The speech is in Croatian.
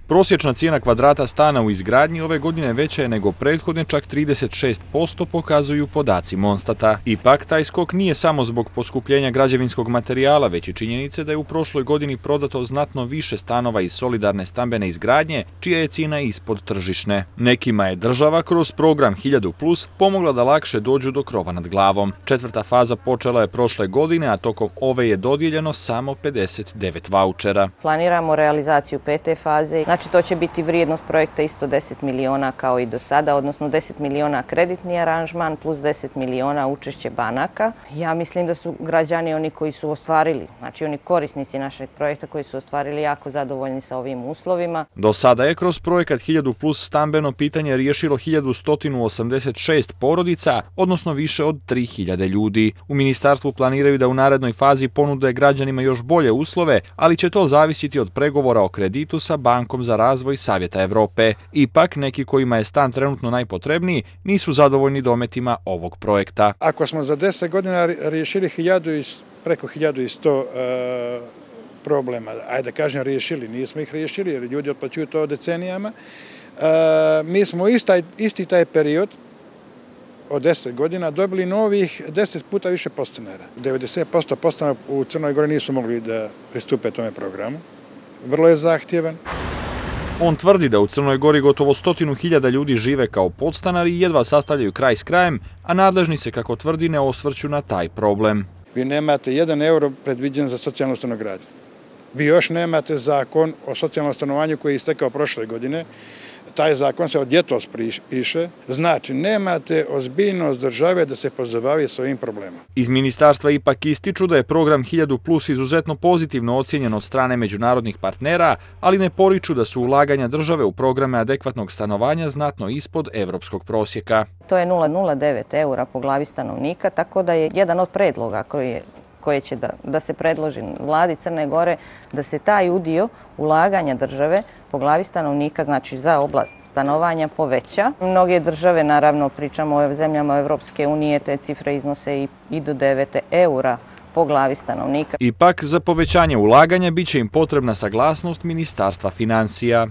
Prosječna cijena kvadrata stana u izgradnji ove godine veća je nego prethodne, čak 36%, pokazuju podaci Monstata. Ipak, taj skok nije samo zbog poskupljenja građevinskog materijala, već i činjenice da je u prošloj godini prodato znatno više stanova iz solidarne stambene izgradnje, čija je cijena ispod tržišne. Nekima je država kroz program 1000+ pomogla da lakše dođu do krova nad glavom. Četvrta faza počela je prošle godine, a tokom ove je dodijeljeno samo 59 vaučera. Planiramo realizaciju pete faze. Znači, to će biti vrijednost projekta isto 10 miliona kao i do sada, odnosno 10 miliona kreditni aranžman plus 10 miliona učešće banaka. Ja mislim da su građani oni koji su ostvarili, znači oni korisnici našeg projekta koji su ostvarili jako zadovoljni sa ovim uslovima. Do sada je kroz projekat 1000+ stambeno pitanje riješilo 1186 porodica, odnosno više od 3000 ljudi. U ministarstvu planiraju da u narednoj fazi ponude građanima još bolje uslove, ali će to zavisiti od pregovora o kreditu sa Bankom za razvoj Savjeta Europe. Ipak, neki kojima je stan trenutno najpotrebniji nisu zadovoljni dometima ovog projekta. Ako smo za 10 godina riješili preko 1100 problema, ajde da kažem riješili, nismo ih riješili jer ljudi otplaćuju to decenijama, mi smo isti taj period od 10 godina dobili novih 10 puta više podstanara. 90% podstanara u Crnoj Gori nisu mogli da pristupe tome programu. Vrlo je zahtjevan. On tvrdi da u Crnoj Gori gotovo 100.000 ljudi žive kao podstanari i jedva sastavljaju kraj s krajem, a nadležni se, kako tvrdi, ne osvrću na taj problem. Vi nemate 1 euro predviđen za socijalnu stanogradnju. Vi još nemate zakon o socijalnom stanovanju koji je istekao prošle godine. Taj zakon se od ljetos piše, znači nemate ozbiljnost države da se pozabavi s ovim problemom. Iz ministarstva ipak ističu da je program 1000+ izuzetno pozitivno ocijenjen od strane međunarodnih partnera, ali ne poriču da su ulaganja države u programe adekvatnog stanovanja znatno ispod evropskog prosjeka. To je 0,09 eura po glavi stanovnika, tako da je jedan od predloga koje će da se predloži vladi Crne Gore, da se taj udio ulaganja države po glavi stanovnika, znači za oblast stanovanja, poveća. Mnoge države, naravno pričamo o zemljama Evropske unije, te cifre iznose i do 9 eura po glavi stanovnika. Ipak, za povećanje ulaganja biće im potrebna saglasnost Ministarstva financija.